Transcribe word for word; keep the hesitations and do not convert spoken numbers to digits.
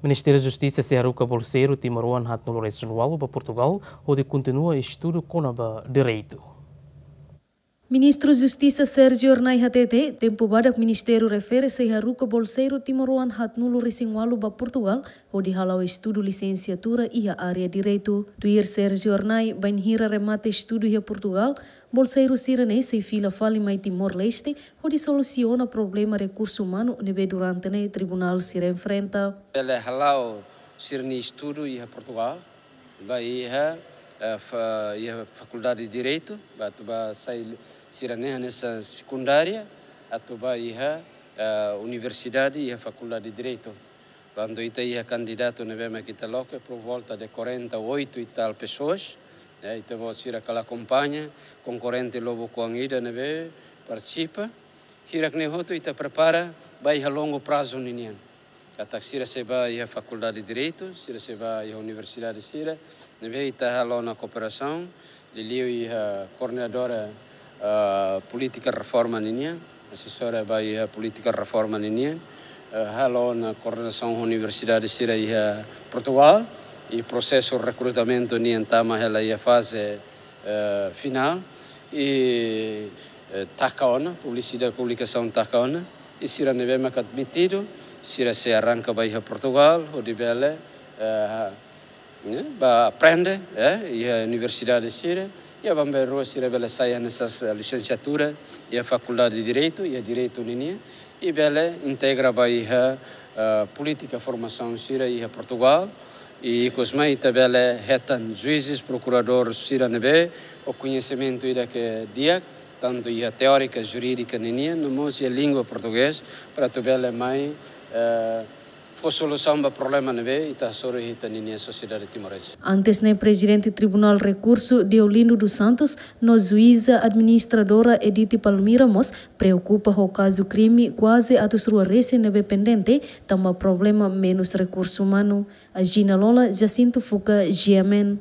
Ministériu Justisa sei haruka bolseiru timoroan haatnulu-resin-ualu ba Portugal, hodi kontinua estudu kona-ba direitu. Ministru Justisa Sérgio Hornai hatete, tempu badak ministériu refere sei haruka bolseiru timoroan haatnulu-resin-ualu ba Portugal, hodi hala'o estudu lisensiatura iha área direitu. Tuir Sérgio Hornai, bainhira remata estudu iha Portugal, bolseiru sira-ne'e sei fila fali mai Timor-Leste, hodi solusiona problema rekursu umanu ne'ebé durante ne'e tribunál sira enfrenta. Bele hala'o sira-nia estudu iha Portugal, ba iha, eh, fa-, iha Fakuldade de Direitu, ba atu ba sai sira-ne'e hanesan sekundária, atu ba iha, eh, universidade iha Fakuldade de Direitu. Kuandu ita iha kandidatu ne'ebé mak ita loke, por volta de quarenta e oito e tal pessoas, eh, ita-boot sira kala akompaña, konkorrente lubuk oan ida ne'ebé partisipa. Hirak-ne'e hotu ita prepara ba iha longu prazu ninian. Katak sira sei ba iha Fakuldade de Direitu, sira sei ba iha universidade sira, ne'ebé ita halo ona kooperasaun, liuliu iha koordenadora, ah, polítika reforma ninian, asesora ba iha polítika reforma ninian, eh, halo ona koordenasaun universidade sira iha Portugal, i prosesu rekrutamentu nian tama hela iha faze, eh, finál, i, eh, taka ona, publisidade, publikasaun taka ona, i sira ne'ebé mak admitidu, sira sei arranka ba iha Portugal, hodi bele, eh, ne'e, ba aprende, eh, iha universidade sira, iha bambairua sira bele sai hanesan lisensiatura iha Fakuldade de Direitu, iha direitu ninian, i bele integra ba iha, eh, polítika formasaun sira iha Portugal, i ikus mai ita bele hetan juízes, prokuradór sira ne'ebé ho koñesimentu ida ke di'ak, tantu iha teórika, jurídika ninian, no mós iha língua portugés, para atu bele mai, eh, fó solusaun ba problema ne'ebé ita hasoru iha ita-nia sosiedade timorense. Antes ne'e, Prezidente Tribunál Rekursu Deolindo dos Santos no Juíza Administradora Edith Palmira mós preokupa ho kazu krime kuaze atus rua resin ne'ebé pendente, tanba problema menus rekursu umanu. Agina Lola, Jacinto Fuca, G M N.